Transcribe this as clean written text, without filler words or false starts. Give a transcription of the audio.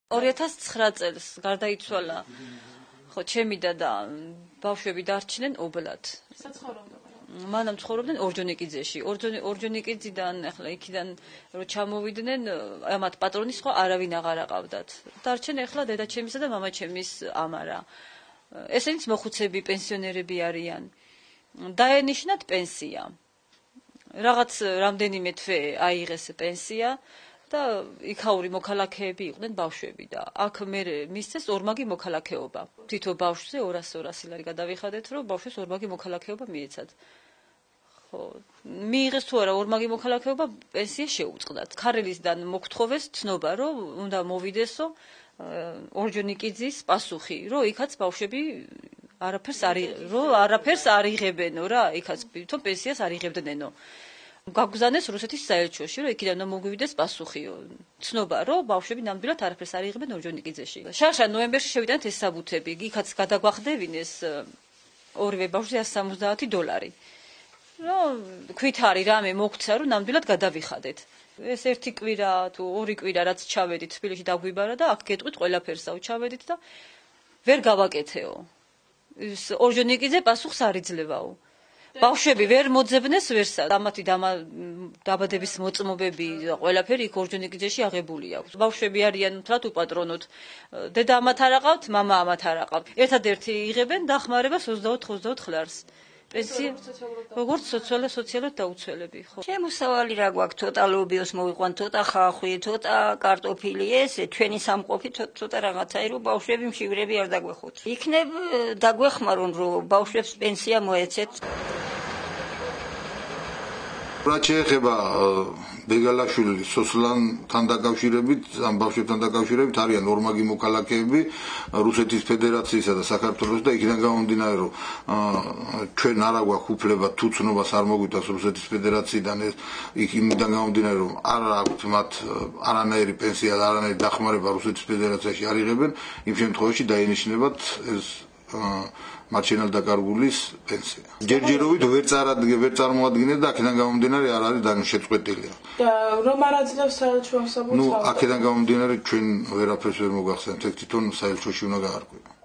2009 წელს გარდაიცვალა ხო ჩემი და ბავშვები დარჩნენ ობლად. მანამ ცხოვრობდნენ ორჯონიკიძეში. ორჯონიკიძიდან ახლა იქიდან რო ჩამოვიდნენ, ამათ პატრონის ხო არავინ აღარ აყავდათ. დარჩენ ახლა დედაჩემისა და მამაჩემის ამარა. ესენიც მოხუცები, პენსიონერები არიან. დაენიშნათ პენსია. რაღაც რამდენიმე თვე აიღეს პენსია და იქაური მოქალაქეები იყვნენ ბავშვები და აქ მე მისცეს ორმაგი მოქალაქეობა. თითო ბავშვზე 200 ლარი გადავიხადეთ, რომ ბავშვებს ორმაგი მოქალაქეობა მიეცათ. ხო, მიიღეს თუ არა ორმაგი მოქალაქეობა, პენსია შეუწყდათ. ქარელისგან მოგთხოვეს ცნობა, რომ უნდა მოვიდესო ორჯონიკიძის პასუხი, რომ იქაც ბავშვები არაფერს არ იღებენო რა, იქაც თვითონ პენსიას არ იღებდნენო. გაგზავნეს რუსეთის საელჩოში, რომ იქიდან მოგვივიდეს პასუხიო. ცნობა, რომ ბავშვები ნამდვილად არაფერს არ იღებენ ორჯონიკიძეში. შარშან ნოემბერში შევიდანთ ეს საბუთები, იქაც გადაგვახდევინეს ორივე ბავშვზე $170. რომ ქვით არის რამე მოგცა, რომ ნამდვილად გადავიხადეთ. ეს ერთი კვირა თუ ორი კვირა რაც ჩავედით თბილისში დაგვიბარა და აქ გეტყვით ყველაფერსაო ჩავედით და ვერ გავაკეთეო. ეს ორჯონიკიძე პასუხს არ იძლევაო. ბავშვები ვერ მოძებნეს ვერსა. ამათი დაბადების მოწმობები ყველაფერი იქ ორჯონიკიძეში აღებული აქვს. ბავშვები არიან მთლად უპატრონოთ. დედა ამათ არ აყავთ, მამა ამათ არ აყავთ. ერთადერთი იღებენ დახმარებას 24 ლარს. პენსია როგორც სოციალურად დაუცველები ხო. შემოსავალი რა გვაქვს, ცოტა ლობიოს მოვიყვან, ცოტა ხახვი, ცოტა კარტოფილი, ესე ჩვენი სამყოფი ცოტა რაღაცაი, რომ ბავშვები მშივრები არ დაგვეხოთ. იქნებ დაგვეხმარონ, რომ ბავშვებს პენსია მოეცეთ. რაც შეეხება ბეგალაშვილის სოსლანთან დაკავშირებით, ამ ბავშვებთან დაკავშირებით არიან ორმაგი მოქალაქეები რუსეთის ფედერაციისა და საქართველოს და იქიდან გამომდინარე, რომ ჩვენ არ აგვაქვს უფლება თუ ცნობას არ მოგვიტანს რუსეთის ფედერაციიდან, იქიდან გამომდინარე, რომ არ აქვთ მათ არანაირი პენსია და არანაირი დახმარება რუსეთის ფედერაციაში არ იღებენ, იმ შემთხვევაში დაინიშნებათ ეს მათ შენელ დაკარგულის პენსია. ჯერჯერობით ვერ წარმოადგენენ და აქედან გამომდინარე არ არის შეწყვეტილი. და რომ არ აძლევს საელჩო ასაბუთს? აქედან გამომდინარე ჩვენ ვერაფერს ვერ მოგახსენებთ, თვითონ საელჩოში უნდა გაარკვევ.